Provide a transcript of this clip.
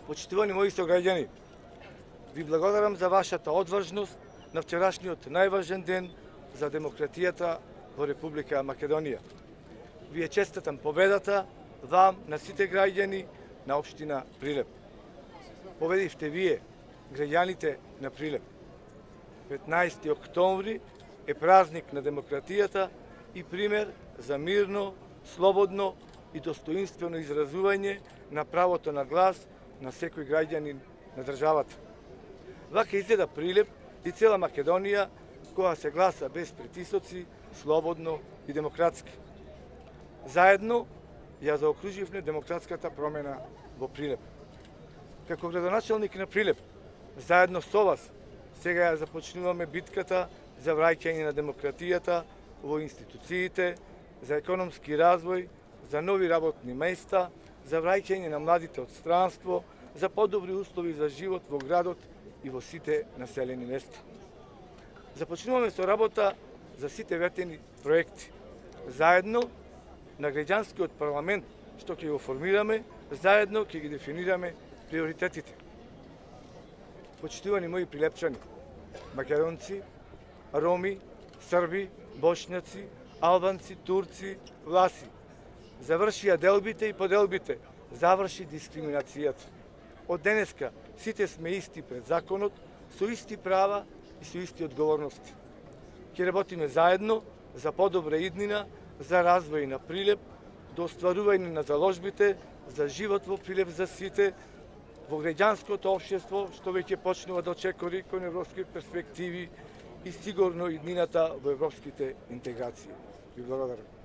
Почитувани мои сограѓани, ви благодарам за вашата одважност на вчерашниот најважен ден за демократијата во Република Македонија. Вие честитам победата вам на сите граѓани на општина Прилеп. Победивте вие, граѓаните на Прилеп. 15 октомври е празник на демократијата и пример за мирно, слободно и достоинствено изразување на правото на глас на секој граѓанин на државата. Вака изгледа Прилеп и цела Македонија кога се гласа без притисоци, слободно и демократски. Заедно ја заокруживме демократската промена во Прилеп. Како градоначалник на Прилеп, заедно со вас, сега ја започнуваме битката за враќање на демократијата во институциите, за економски развој, за нови работни места, за враќање на младите од странство, за подобри услови за живот во градот и во сите населени места. Започнуваме со работа за сите ветени проекти. Заедно на граѓанскиот парламент што ќе го формираме, заедно ќе ги дефинираме приоритетите. Почитувани мои прилепчани, македонци, роми, срби, бошњаци, албанци, турци, власи, завршија делбите и поделбите, заврши дискриминацијата. Од денеска сите сме исти пред законот, со исти права и со исти одговорности. Ќе работиме заедно за подобра иднина, за развој на Прилеп, до остварување на заложбите за живот во Прилеп за сите, во граѓанското општество што веќе почнува да очекори кон европски перспективи и сигурно иднината во европските интеграции. Ви благодарам.